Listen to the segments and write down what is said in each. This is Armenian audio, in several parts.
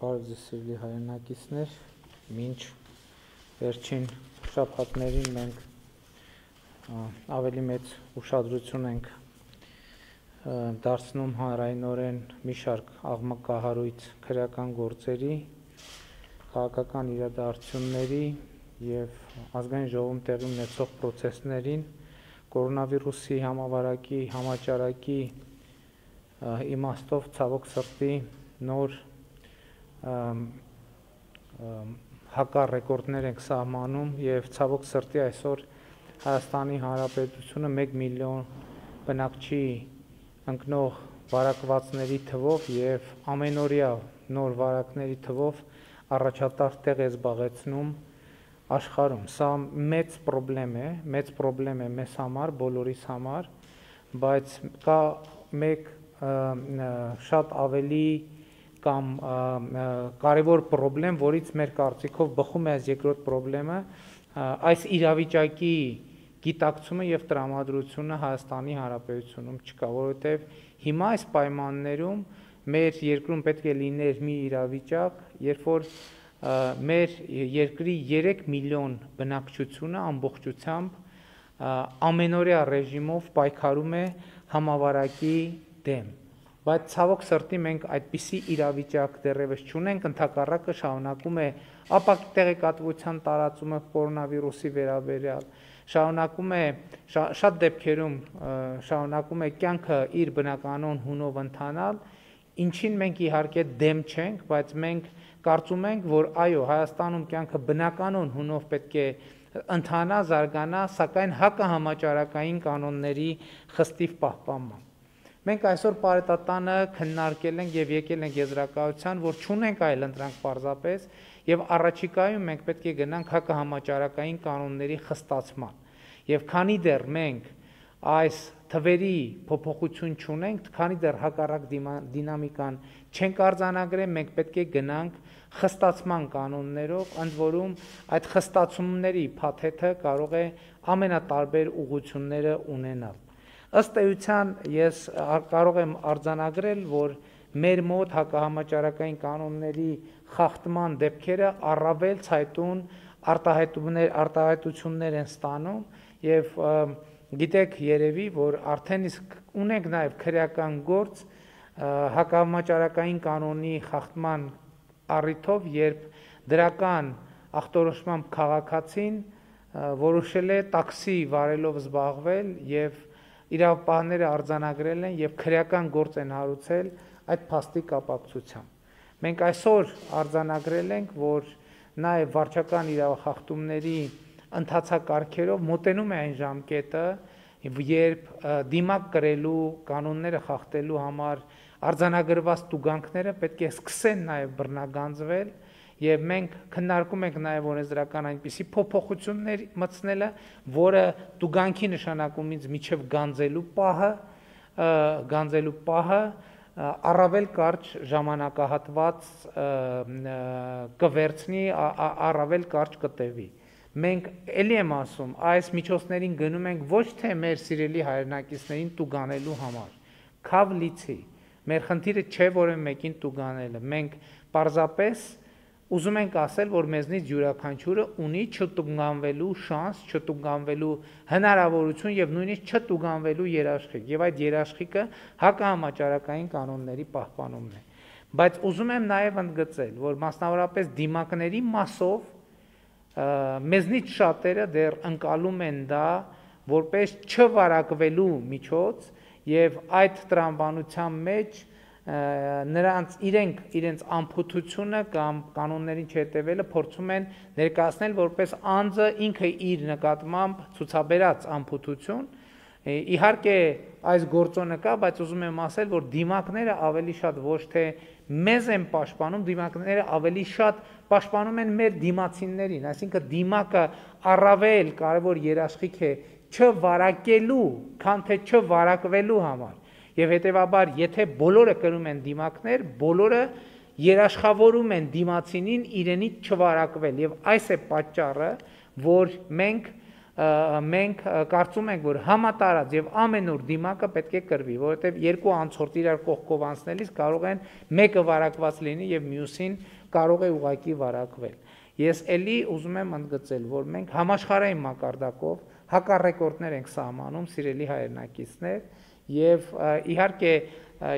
Բարև սիրելի հայրենակիցներ, մինչ վերջին շաբաթներին մենք ավելի մեծ ուշադրություն ենք դարձնում հանրայնորեն մի շարք աղմկահարույց քրեական գործերի, քաղաքական իրադարձությունների և ազգային ժողովում տեղի ունեցող պրոցեսներին, կորոնավիրուսի համավարակի համաճարակի իմաստով ցավոք սրտի նոր հակառեկորդներ ենք սահմանում և ցավոք սրտի այսօր Հայաստանի Հանրապետությունը 1 միլիոն բնակչի ընկնող վարակվածների թվով և ամենօրյա նոր վարակների թվով առաջատար տեղ է զբաղեցնում աշխարհում։ Սա մեծ պրոբլեմ է մեզ համար, բոլորիս համար, բայց կա մեկ շատ ավելի կամ կարևոր պրոբլեմ, որից մեր կարծիքով բխում է այս երկրորդ պրոբլեմը, այս իրավիճակի գիտակցումը և տրամադրությունը Հայաստանի Հանրապետությունում չկա, որովհետև հիմա այս պայմաններում մեր երկրում պետք է լիներ մի իրավիճակ, երբ որ մեր երկրի 3 միլիոն բնակչությունը ամբողջությամբ ամենօրյա ռեժիմով պայքարում է համավարակի դեմ, բայց ցավոք սրտի մենք այդպիսի իրավիճակ դեռևս չունենք, ընդհակառակը շարունակում է ապակի տեղեկատվության տարածումը կորոնավիրուսի վերաբերյալ, շարունակում է շատ դեպքերում շարունակում է կյանքը իր բնականon հունով ընթանալ, ինչին մենք իհարկե դեմ չենք, բայց մենք կարծում ենք, որ այո, Հայաստանում կյանքը բնականon հունով պետք է ընթանա, զարգանա, սակայն հակահամաճարակային կանոնների խստիվ պահպանմամբ։ Մենք այսօր պարետատանը քննարկել ենք և եկել ենք եզրակացության, որ չունենք այլ ընտրանք պարզապես և առաջիկայում մենք պետք է գնանք հակահամաճարակային կանոնների խստացման։ Եվ քանի դեռ մենք այս թվերի փոփոխություն չունենք, քանի դեռ հակառակ դինամիկան չենք արձանագրել, մենք պետք է գնանք խստացման կանոններով, ընդ որում այդ խստացումների փաթեթը կարող է ամենատարբեր ուղղությունները ունենալ։ Ըստ էության ես կարող եմ արձանագրել, որ մեր մոտ հակահամաճարակային կանոնների խախտման դեպքերը առավել ցայտուն արտահայտություններ են ստանում և գիտեք երևի, որ արդեն իսկ ունենք նաև քրեական գործ հակահամաճարակային կանոնի խախտման առիթով, երբ դրական ախտորոշմամբ քաղաքացին որոշել է տաքսի վարելով զբաղվել և իրավապահները արձանագրել են և քրեական գործ են հարուցել այդ փաստի կապակցությամբ։ Մենք այսօր արձանագրել ենք, որ նաև վարչական իրավախախտումների ընթացակարգերով մոտենում է այն ժամկետը, երբ դիմակ կրելու կանոնները խախտելու համար արձանագրված տուգանքները պետք է սկսեն նաև բռնագանձվել և մենք քննարկում ենք նաև օրենսդրական այնպիսի փոփոխություններ մտցնելը, որը տուգանքի նշանակումից մինչև գանձելու պահը առավել կարճ ժամանակահատված կվերցնի, առավել կարճ կտևի։ Մենք էլի եմ ասում, այս միջոցներին գնում ենք ոչ թե մեր սիրելի հայրենակիցներին տուգանելու համար, քավ լիցի, մեր խնդիրը չէ որևէ մեկին տուգանելը, մենք պարզապես ուզում ենք ասել, որ մեզնից յուրաքանչյուրը ունի չտուգանվելու շանս, չտուգանվելու հնարավորություն և նույնիսկ չտուգանվելու երաշխիք, և այդ երաշխիքը հակահամաճարակային կանոնների պահպանումն է։ Բայց ուզում եմ նաև ընդգծել, որ մասնավորապես դիմակների մասով մեզնից շատերը դեռ ընկալում են դա որպես չվարակվելու միջոց և այդ տրամաբանության մեջ իրենց անփութությունը կամ կանոններին չհետևելը փորձում են ներկայացնել որպես անձը ինքը իր նկատմամբ ցուցաբերած անփութություն, իհարկե այս գործոնը կա, բայց ուզում եմ ասել, որ դիմակները ավելի շատ ոչ թե մեզ են պաշտպանում, դիմակները ավելի շատ պաշտպանում են մեր դիմացիներին, այսինքն դիմակը առավել կարևոր երաշխիք է չվարակելու, քան թե չվարակվելու համար։ Եվ հետևաբար, եթե բոլորը կրում են դիմակներ, բոլորը երաշխավորում են դիմացինին իրենից չվարակվել և այս է պատճառը, որ մենք կարծում ենք, որ համատարած և ամենուր դիմակը պետք է կրվի, որովհետև երկու անցորդ իրար կողքով անցնելիս կարող են մեկը վարակված լինի և մյուսին կարող է ուղղակի վարակվել։ Ես էլի ուզում եմ ընդգծել, որ մենք համաշխարհային մակարդակով հակառեկորդներ ենք սահմանում, սիրելի հայրենակիցներ, եւ իհարկե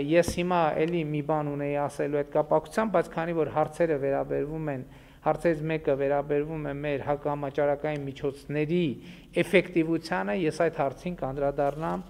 ես հիմա էլի մի բան ունեի ասելու այդ կապակցությամբ, բայց քանի որ հարցերը վերաբերվում են, հարցերից մեկը վերաբերվում է մեր հակահամաճարակային միջոցների էֆեկտիվությանը, ես այդ հարցին կանդրադառնամ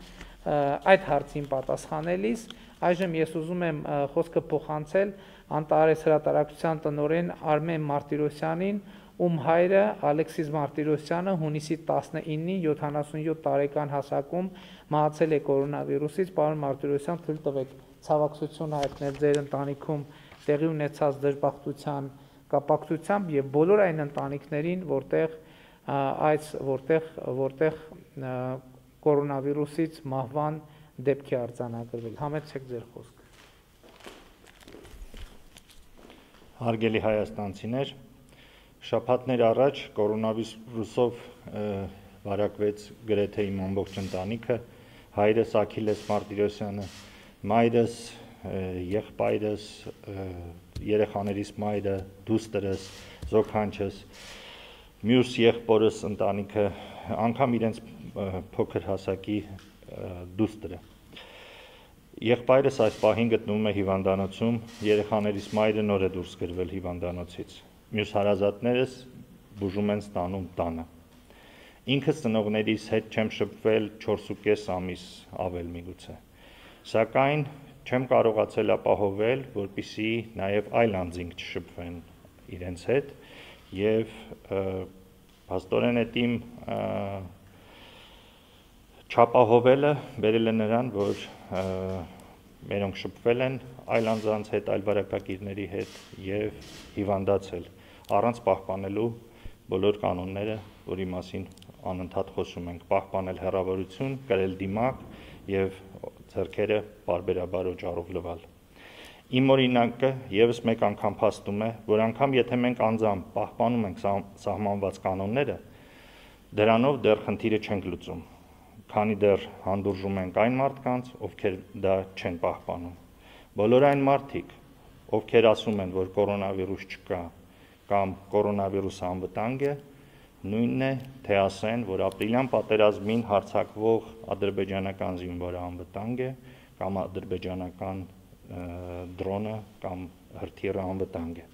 այդ հարցին պատասխանելիս։ Այժմ ես ուզում եմ խոսքը փոխանցել Անտարես հրատարակչության տնօրեն Արմեն Մարտիրոսյանին, ում հայրը Ալեքսիս Մարտիրոսյանը հունիսի 19-ին 77 տարեկան հասակում մահացել է կորոնավիրուսից։ Պարոն Մարտիրոսյան, թույլ տվեք ցավակցություն հայտնել ձեր ընտանիքում տեղի ունեցած դժբախտության կապակցությամբ եւ բոլոր այն ընտանիքներին, որտեղ կորոնավիրուսից մահվան դեպք է արձանագրվել։ Համեցեք ձեր խոսքը։ Հարգելի հայաստանցիներ, շաբաթներ առաջ կորոնավիրուսով վարակվեց գրեթե իմ ամբողջ ընտանիքը, հայրս Աքիլես Մարտիրոսյանը, մայրս, եղբայրս, երեխաներիս մայրը, դուստրս, զոքանչս, մյուս եղբորս ընտանիքը, անգամ իրենց փոքր հասակի դուստրը։ Եղբայրս այս պահին գտնվում է հիվանդանոցում, երեխաներիս մայրը նոր է դուրս գրվել հիվանդանոցից։ Մյուս հարազատներս բուժում են ստանում տանը։ Ինքս ծնողներիս հետ չեմ շփվել 4.5 ամիս ավել միգուցե։ Սակայն չեմ կարողացել ապահովել, որպեսզի նաև այլ անձինք չշփվեն իրենց հետ եւ փաստորեն այդ իմ չապահովելը բերել է նրան, որ մերոնք շփվել են այլ անձանց հետ, այլ բարակակիրների հետ եւ հիվանդացել, առանց պահպանելու բոլոր կանոնները, որի մասին անընդհատ խոսում ենք, պահպանել հեռավորություն, կրել դիմակ եւ ձեռքերը բարբերաբար օճառով լվալ։ Իմ օրինակը եւս մեկ անգամ փաստում է, որ անգամ եթե մենք անձամբ պահպանում ենք սահմանված կանոնները, դրանով դեռ խնդիրը չենք լուծում, քանի դեռ հանդուրժում ենք այն մարդկանց, ովքեր դա չեն պահպանում։ Բոլոր այն մարդիկ, ովքեր ասում են, որ կորոնավիրուս չկա կամ կորոնավիրուսը անվտանգ է, նույնն է, թե ասեն, որ ապրիլյան պատերազմին հարձակվող ադրբեջանական զինվորը անվտանգ է կամ ադրբեջանական դրոնը կամ հրթիռը անվտանգ է։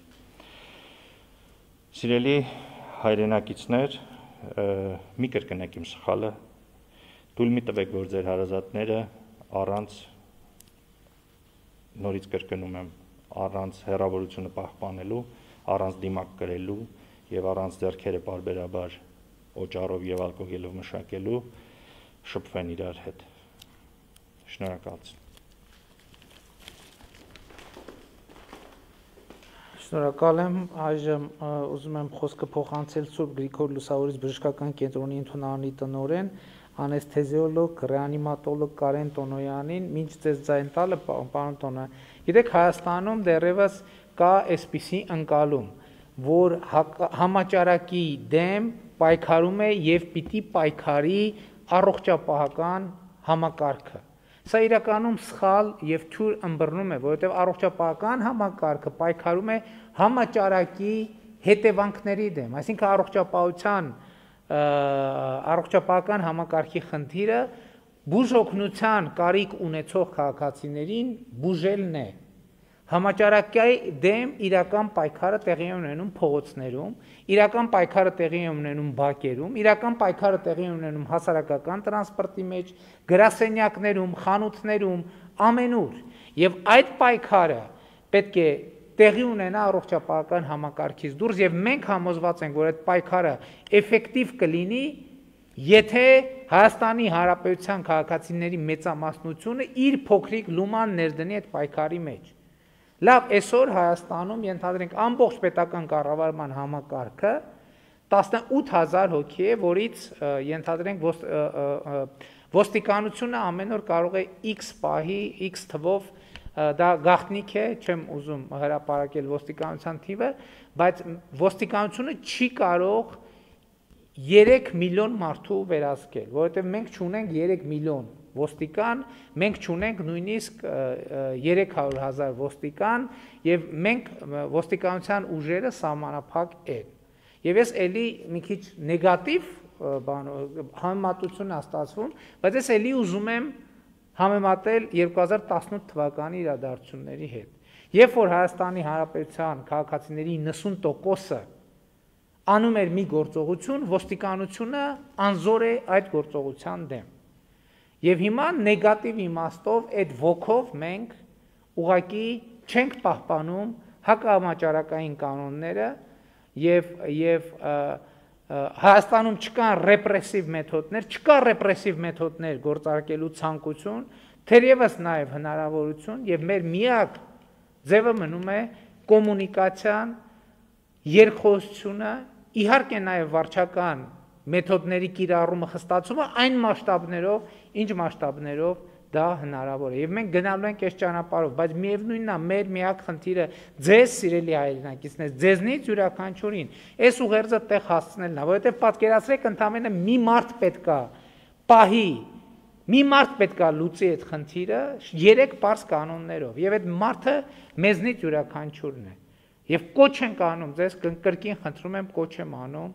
Սիրելի հայրենակիցներ, մի կրկնեք իմ սխալը, թույլ մի տվեք, որ ձեր հարազատները առանց, նորից կրկնում եմ, առանց հեռավորությունը պահպանելու, առանց դիմակ կրելու եւ առանց ձեռքերը բարբերաբար օճառով եւ ալկոհոլով մշակելու շփվեն իրար հետ։ Շնորհակալություն։ Շնորհակալ եմ, այժմ ուզում եմ խոսքը փոխանցել Սուրբ Գրիգոր Լուսավորից բժշկական կենտրոնի ընդունարանի տնօրեն, անեսթեզիոլոգ, ռեանիմատոլոգ Կարեն Տոնոյանին, մինչ ձեզ ձայն տալը, պարոն Տոնոյան, գիտեք Հայաստանում դեռևս կա այսպիսի ընկալում, որ համաճարակի դեմ պայքարում է եւ պիտի պայքարի առողջապահական համակարգը։ Սա իրականում սխալ եւ թյուր ըմբռնում է, որովհետեւ առողջապահական համակարգը պայքարում է համաճարակի հետևանքների դեմ, այսինքն առողջապահական համակարգի խնդիրը բուժօգնության կարիք ունեցող քաղաքացիներին բուժելն է։ Համաճարակի դեմ իրական պայքարը տեղի է ունենում փողոցներում, իրական պայքարը տեղի է ունենում բակերում, իրական պայքարը տեղի է ունենում հասարակական տրանսպորտի մեջ, գրասենյակներում, խանութներում, ամենուր։ Եվ այդ պայքարը պետք է տեղի ունենա առողջապահական համակարգից դուրս եւ մենք համոզված ենք, որ այդ պայքարը էֆեկտիվ կլինի, եթե Հայաստանի Հանրապետության քաղաքացիների մեծամասնությունը իր փոքրիկ լուման ներդնի այդ պայքարի մեջ։ Լավ, այսօր Հայաստանում ենթադրենք ամբողջ պետական կառավարման համակարգը 18000 հոգի է, որից ենթադրենք ոստիկանությունը ամեն օր կարող է X պահի, X թվով, դա գաղտնիք է, չեմ ուզում հրապարակել ոստիկանության թիվը, բայց ոստիկանությունը չի կարող 3 միլիոն մարդու վերահսկել, որովհետև մենք չունենք 3 միլիոն ոստիկան, մենք չունենք նույնիսկ 300,000 ոստիկան եւ մենք ոստիկանության ուժերը սահմանափակ են։ Եվ ես էլի մի քիչ նեգատիվ համեմատություն է ստացվում, բայց ես էլի ուզում եմ համեմատել 2018 թվականի իրադարձությունների հետ։ Երբ որ Հայաստանի Հանրապետության քաղաքացիների 90%-ը անում էր մի գործողություն, ոստիկանությունը անզոր է այդ գործողության դեմ։ Եվ հիմա նեգատիվ իմաստով այդ ոգով մենք ուղղակի չենք պահպանում հակահամաճարակային կանոնները եւ Հայաստանում չկան ռեպրեսիվ մեթոդներ, չկա ռեպրեսիվ մեթոդներ գործարկելու ցանկություն, թերևս նաև հնարավորություն եւ մեր միակ ձևը մնում է կոմունիկացիան, երկխոսությունը, իհարկե նաև վարչական մեթոդների կիրառումը, խստացումը այն մասշտաբներով, ինչ մասշտաբներով դա հնարավոր է։ Եվ մենք գնալու ենք այս ճանապարհով, բայց միևնույնն է, մեր միակ խնդիրը ձեզ սիրելի հայրենակիցներ, ձեզնից յուրաքանչյուրին այս ուղերձը տեղ հասցնելն է, որովհետև պատկերացրեք ընդամենը մի մարդ պետքա պահի, մի մարդ պետքա լուծի այդ խնդիրը 3 պարզ կանոններով, եւ այդ մարդը մեզնից յուրաքանչյուրն է։ Եվ կոչ ենք անում ձեզ, կրկին խնդրում եմ, կոչ եմ անում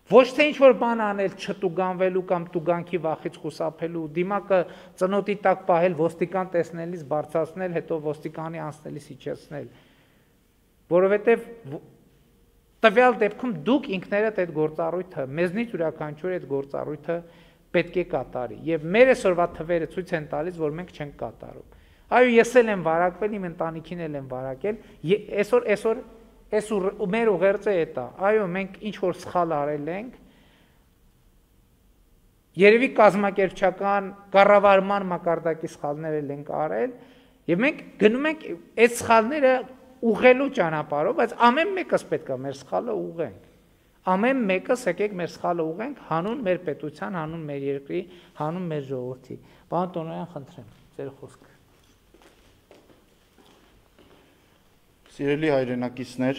ոչ թե ինչ-որ բան անել չտուգանվելու կամ տուգանքի վախից խուսափելու, դիմակը ծնոտի տակ պահել, ոստիկան տեսնելիս բարձրացնել, հետո ոստիկանի անցնելիս իջեցնել, որովհետև տվյալ դեպքում դուք ինքներդ այդ գործառույթը, մեզնից յուրաքանչյուր այդ գործառույթը պետք է կատարի, եւ մեր այսօրվա թվերը ցույց են տալիս, որ մենք չենք կատարում։ Այո, ես էլ եմ վարակվել, իմ ընտանիքին էլ եմ վարակել, այսօր մեր ուղերձը է դա, այո, մենք ինչ-որ սխալ արել ենք, երևի կազմակերպչական կառավարման մակարդակի սխալներ էլ ենք արել, եւ մենք գնում ենք այդ սխալները ուղղելու ճանապարհով, բայց ամեն մեկս պետք է մեր սխալը ուղղենք, ամեն մեկս եկեք մեր սխալը ուղղենք հանուն մեր պետության, հանուն մեր երկրի, հանուն մեր ժողովրդի։ Պարոն Տոնոյան, խնդրեմ, ձեր խոսքը։ Սիրելի հայրենակիցներ,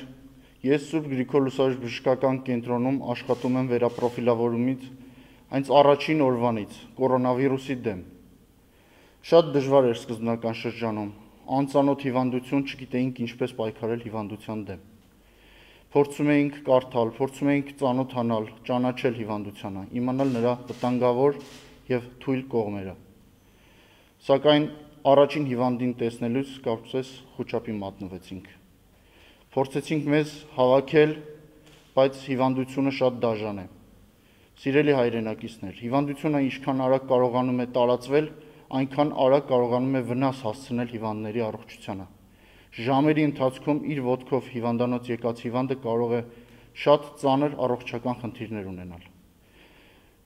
ես Սուրբ Գրիգոր լուսաբուժական կենտրոնում աշխատում եմ վերապրոֆիլավորումից այնց առաջին օրվանից կորոնավիրուսի դեմ։ Շատ դժվար էր սկզբնական շրջանում, անծանոթ հիվանդություն, չգիտեինք ինչպես պայքարել հիվանդության դեմ։ Փորձում էինք կարդալ, փորձում էինք ծանոթանալ, ճանաչել հիվանդությանը, իմանալ նրա վտանգավոր եւ թույլ կողմերը։ Սակայն առաջին հիվանդին տեսնելուց կարծես խոճապի մատնվեցինք։ Փորձեցինք մեզ հավաքել, բայց հիվանդությունը շատ դաժան է։ Սիրելի հայրենակիցներ, հիվանդությունը ինչքան արագ կարողանում է տարածվել, այնքան արագ կարողանում է վնաս հասցնել հիվանդների առողջությանը։ Ժամերի ընթացքում իր ոտքով հիվանդանոց եկած հիվանդը կարող է շատ ծանր առողջական խնդիրներ ունենալ։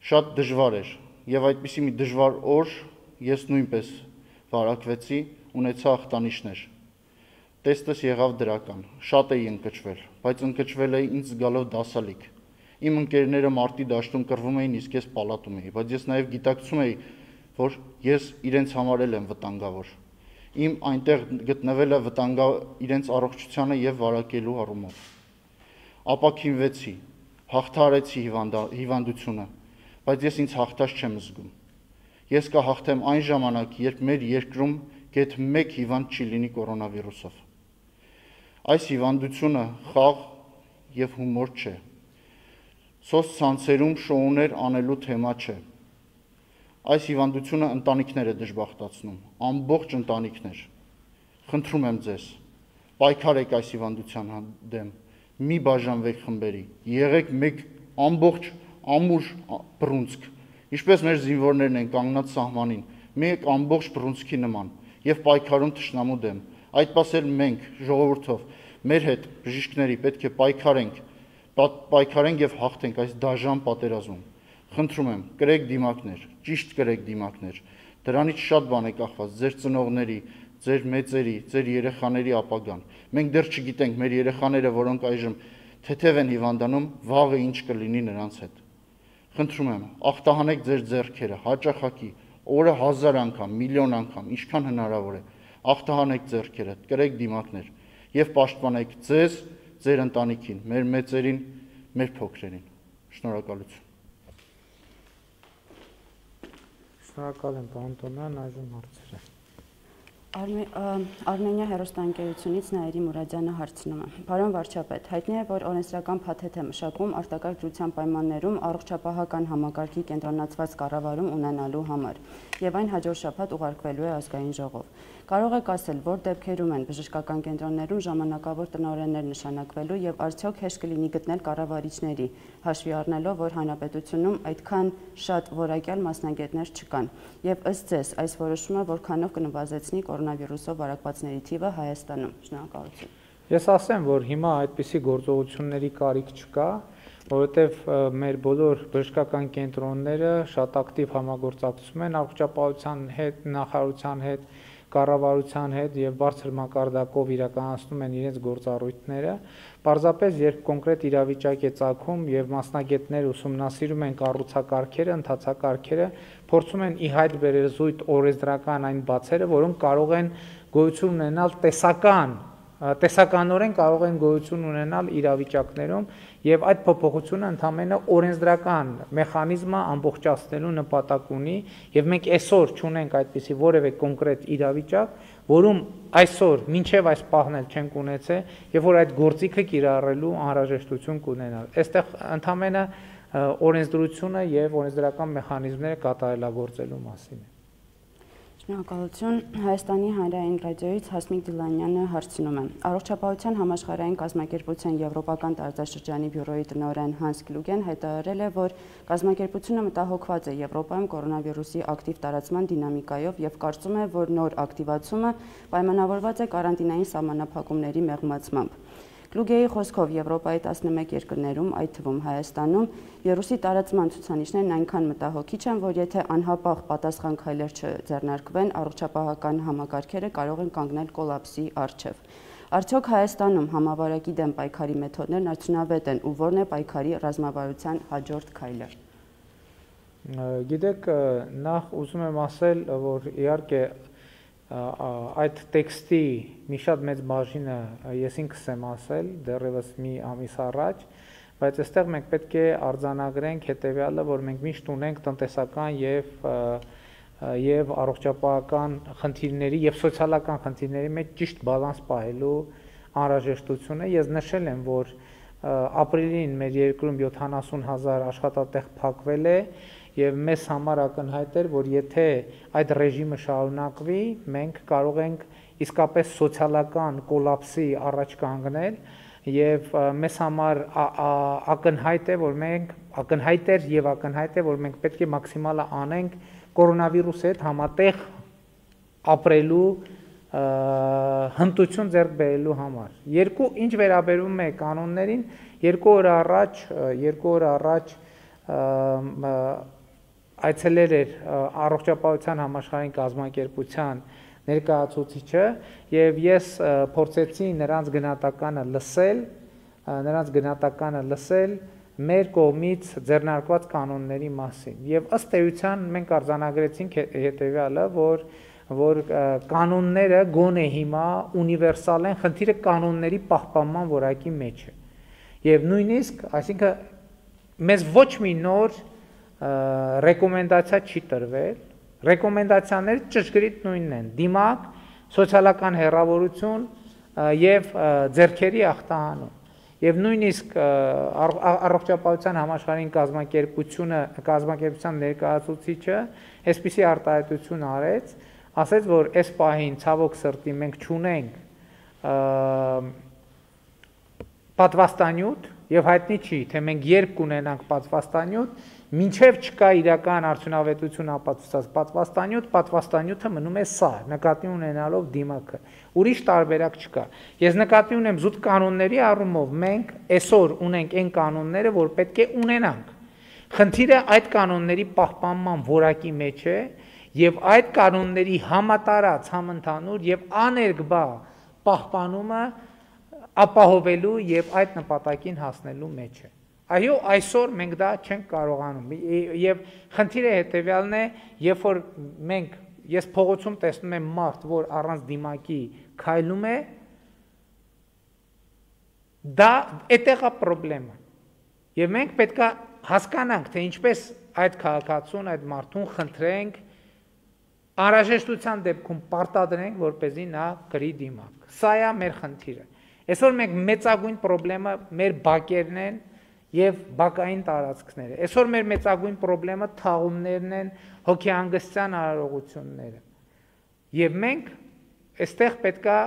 Շատ դժվար էր, եւ այդպիսի մի դժվար օր ես նույնպես վարակվեցի, ունեցա ախտանիշներ։ Տեստս եղավ դրական, շատ էի ընկճվել, բայց ընկճվել էի ինձ զգալով դասալիկ։ Իմ ընկերները մարտի դաշտում կռվում էին, իսկ ես պալատում էի, բայց ես նաև գիտակցում էի, որ ես իրենց համար եմ վտանգավոր։ Իմ այնտեղ գտնվելը իրենց առողջությանը եւ վարակելու առումով։ Ապաքինվեցի, հաղթարեցի հիվանդությունը, բայց ես ինձ հաղթած չեմ զգում։ Ես կհաղթեմ այն ժամանակ, երբ մեր երկրում գեթ 1 հիվանդ չի լինի կորոնավիրուսով։ Այս հիվանդությունը խաղ եւ հումոր չէ։ Սոցցանցերում շոուներ անելու թեմա չէ։ Այս հիվանդությունը ընտանիքներ է դժբախտացնում, ամբողջ ընտանիքներ։ Խնդրում եմ ձեզ, պայքարեք այս հիվանդության դեմ, մի բաժանվեք խմբերի, եղեք մեկ ամբողջ ամուր բռունցք, ինչպես մեր զինվորներն են կանգնած սահմանին, մեկ ամբողջ բռունցքի նման եւ պայքարում թշնամու դեմ։ Այդ պասել մենք ժողովրդով մեր հետ բժիշկների պետք է պայքարենք եւ հաղթենք այս դաժան պատերազմում։ Խնդրում եմ, կրեք դիմակներ, ճիշտ կրեք դիմակներ։ Դրանից շատ բան է կախված ձեր ծնողների, ձեր մեծերի, ձեր երեխաների ապագան։ Մենք դեռ չգիտենք մեր երեխաները, որոնք այժմ թեթև են հիվանդանում, վաղը ինչ կլինի նրանց հետ։ Խնդրում եմ, ախտահանեք ձեր ձեռքերը, հաճախակի, օրը 1000 անգամ, միլիոն անգամ, ինչքան հնարավոր է։ Ախտահանեք ձեռքերը, կրեք դիմակներ եւ պաշտպանեք ձեզ, ձեր ընտանիքին, մեր մեծերին, մեր փոքրերին։ Շնորհակալություն։ Շնորհակալ եմ, պարոն Տոնյան, այժմ հարցերը։ Արմենիա հեռուստաընկերությունից Նաիրի Մուրադյանը հարցնում է. Պարոն վարչապետ, հայտնի է, որ օրենսդրական փաթեթ է մշակում արտակարգ դրության պայմաններում առողջապահական համակարգի կենտրոնացված կառավարում ունենալու համար, եւ այն հաջորդ շաբաթ ուղարկվելու է ազգային ժողով։ Կարող եք ասել, որ դեպքերում են բժշկական կենտրոններում ժամանակավոր տնօրեններ նշանակվելու եւ արդյոք հեշտ կլինի գտնել կառավարիչների, հաշվի առնելով, որ հանրապետությունում այդքան շատ որակյալ մասնագետներ չկան, եւ ըստ ձեզ այս որոշումը որքանով կնվազեցնի կորոնավիրուսով վարակվածների թիվը Հայաստանում։ Շնորհակալություն։ Ես ասեմ, որ հիմա այդպիսի գործողությունների կարիք չկա, որովհետև մեր բոլոր բժշկական կենտրոնները շատ ակտիվ համագործակցում են առողջապահության հետ, նախարարության հետ, կառավարության հետ եւ բարձր մակարդակով իրականացնում են իրենց գործառույթները։ Պարզապես երբ կոնկրետ իրավիճակ է ծագում եւ մասնագետներ ուսումնասիրում են կառուցակարգերը, ընթացակարգերը, փորձում են ի հայտ բերել զույգ օրենսդրական այն բացերը, որոնք կարող են գոյություն ունենալ տեսականորեն կարող են գոյություն ունենալ իրավիճակներում եւ այդ փոփոխությունը ընդհանրապես օրենսդրական մեխանիզմը ամբողջացնելու նպատակ ունի եւ մենք այսօր չունենք այդպիսի որևէ կոնկրետ իրավիճակ, որում այսօր մինչեւ այս պահն էլ չենք ունեցել եւ որ այդ գործիքը կիրառելու անհրաժեշտություն կունենալ։ Այստեղ ընդհանրապես օրենսդրությունը եւ օրենսդրական մեխանիզմները կատարելագործելու մասին է։ Շնորհակալություն։ Հայաստանի հանրային ռադիոյից Հասմիկ Դիլանյանը հարցնում է. Առողջապահության համաշխարհային կազմակերպության եվրոպական տարածաշրջանի բյուրոյի տնօրեն Հանս Կլուգեն հայտարարել է, որ կազմակերպությունը մտահոգված է Եվրոպայում կորոնավիրուսի ակտիվ տարածման դինամիկայով եւ կարծում է, որ նոր ակտիվացումը պայմանավորված է կարանտինային սահմանափակումների մեղմացմամբ։ Կլուգեի խոսքով Եվրոպայի 11 երկրներում, այդ թվում Հայաստանում, վիրուսի տարածման ցուցանիշներն այնքան մտահոգիչ են, որ եթե անհապաղ պատասխան քայլեր չձեռնարկվեն, առողջապահական համակարգերը կարող են կանգնել կոլապսի առջև։ Արդյոք Հայաստանում համավարակի դեմ պայքարի մեթոդներն արդյունավետ են ու ո՞րն է պայքարի ռազմավարության հաջորդ քայլը։ Գիտեք, նախ ուզում եմ ասել, որ իհարկե այդ տեքստի մի շատ մեծ բաժինը ես ինքս եմ ասել դեռևս մի ամիս առաջ, բայց այստեղ մենք պետք է արձանագրենք հետևյալը, որ մենք միշտ ունենք տնտեսական եւ առողջապահական խնդիրների եւ սոցիալական խնդիրների մեջ ճիշտ բալանս պահելու անհրաժեշտությունը։ Ես նշել եմ, որ ապրիլին մեր երկրում 70,000 աշխատատեղ փակվել է եւ մեզ համար ակնհայտ էր, որ եթե այդ ռեժիմը շարունակվի, մենք կարող ենք իսկապես սոցիալական կոլապսի առաջ կանգնել եւ մեզ համար ակնհայտ է, որ մենք պետք է մաքսիմալը անենք կորոնավիրուսի հետ համատեղ ապրելու հմտություն ձեռք բերելու համար։ Ինչ վերաբերում է կանոններին, 2 օր առաջ այցելել էր առողջապահության համաշխարհային կազմակերպության ներկայացուցիչը եւ ես փորձեցի նրանց գնահատականը լսել մեր կողմից ձեռնարկված կանոնների մասին եւ ըստ էության մենք արձանագրեցինք հետեւյալը, որ կանոնները գոնե հիմա ունիվերսալ են, խնդիրը կանոնների պահպանման որակի մեջ է եւ նույնիսկ, այսինքն մեզ ոչ մի նոր ռեկոմենդացիա չի տրվել, ռեկոմենդացիաները ճշգրիտ նույնն են՝ դիմակ, սոցիալական հեռավորություն եւ ձեռքերի ախտահանում։ Եվ նույնիսկ առողջապահության համաշխարհային կազմակերպության ներկայացուցիչը այսպիսի արտահայտություն արեց, ասեց, որ այս պահին ցավոք սրտի մենք չունենք պատվաստանյութ եւ հայտնի չի, թե մենք երբ կունենանք պատվաստանյութ, մինչև չկա իրական արդյունավետություն ապացուցած պատվաստանյութը մնում է սա, նկատի ունենալով դիմակը, ուրիշ տարբերակ չկա։ Ես նկատի ունեմ զուտ կանոնների առումով մենք այսօր ունենք այն կանոնները, որ պետք է ունենանք։ Խնդիրը այդ կանոնների պահպանման որակի մեջ է եւ այդ կանոնների համատարած, համընդհանուր եւ աներկբա պահպանումը ապահովելու եւ այդ նպատակին հասնելու մեջ է։ Այո, այսօր մենք դա չենք կարողանում եւ խնդիրը հետեւյալն է, երբ որ ես փողոցում տեսնում եմ մարդ, որ առանց դիմակի քայլում է, դա այդտեղ է խնդրեմը։ Եվ մենք պետք է հասկանանք, թե ինչպես այդ քաղաքացուն, այդ մարդուն խնդրենք Անհրաժեշտության դեպքում պարտադրենք, որպեսզի նա գրի դիմակ։ Սա է մեր խնդիրը։ Այսօր մենք մեծագույն խնդիրը մեր բակերն են եւ բակային տարածքները։ Այսօր մեր մեծագույն խնդիրը թաղումներն են, հոգեհանգստյան արարողությունները։ Եվ մենք այստեղ պետքա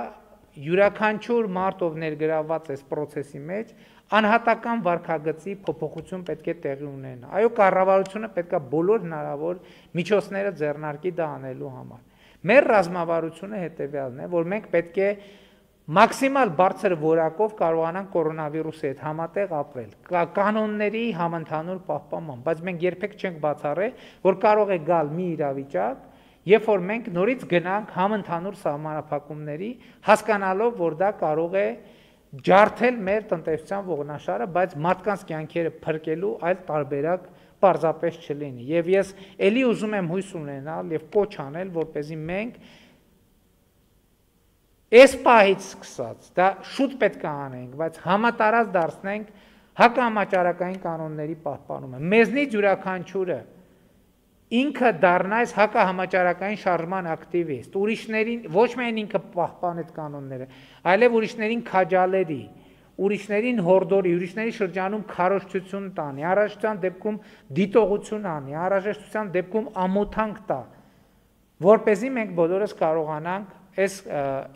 յուրաքանչյուր մարդ, ով ներգրավված է այս process-ի մեջ, անհատական վարքագծի փոփոխություն պետք է տեղի ունենա։ Այո, կառավարությունը պետքա բոլոր հնարավոր միջոցները ձեռնարկի դա անելու համար։ Մեր ռազմավարությունը հետևյալն է, որ մենք պետք է մաքսիմալ բարձր որակով կարողանանք կորոնավիրուսի հետ համատեղ ապրել, կանոնների համընդհանուր պահպանման, բայց մենք երբեք չենք բացառել, որ կարող է գալ մի իրավիճակ, երբ որ մենք նորից գնանք համընդհանուր սահմանափակումների, հասկանալով, որ դա կարող է ջարդել մեր տնտեսության ողնաշարը, բայց մարդկանց կյանքերը փրկելու այլ տարբերակ պարզապես չլինի։ Եվ ես ելի ուզում եմ հույս ունենալ եւ կոչ անել, որպեսզի մենք այս պահից սկսած, դա շուտ պետք է անենք, բայց համատարած դարձնենք հակահամաճարակային կանոնների պահպանումը։ Մեզնից յուրաքանչյուրը ինքը դառնա այս հակահամաճարակային շարժման ակտիվիստ, ուրիշներին ոչ միայն ինքը պահպան այդ կանոնները, այլև ուրիշներին քաջալերի, ուրիշներին հորդորի, ուրիշների շրջանում քարոզչություն տանի, անհրաժեշտության դեպքում դիտողություն անի, անհրաժեշտության դեպքում ամոթանք տա, որպեսզի մենք բոլորս կարողանանք այս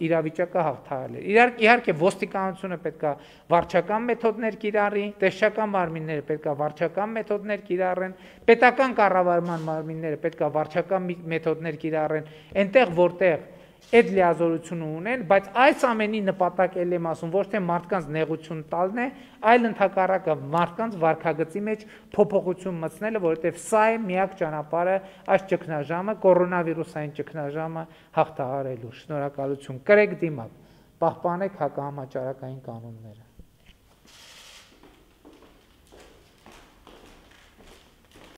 իրավիճակը հաղթահարել։ Իհարկե ոստիկանությունը պետքա վարչական մեթոդներ կիրառի, տեսչական մարմինները պետքա վարչական մեթոդներ կիրառեն, պետական կառավարման մարմինները պետքա վարչական մեթոդներ կիրառեն, այնտեղ որտեղ այդ լիազորությունը ունեն, բայց այս ամենի նպատակը եմ ասում, ոչ թե մարդկանց նեղություն տալն է, այլ ընդհակառակը մարդկանց վարքագծի մեջ փոփոխություն մտցնելը, որովհետև սա է միակ ճանապարհը այս ճգնաժամը, կորոնավիրուսային ճգնաժամը հաղթահարելու։ Շնորհակալություն։ Կրեք դիմակ, պահպանեք հակահամաճարակային կանոնները։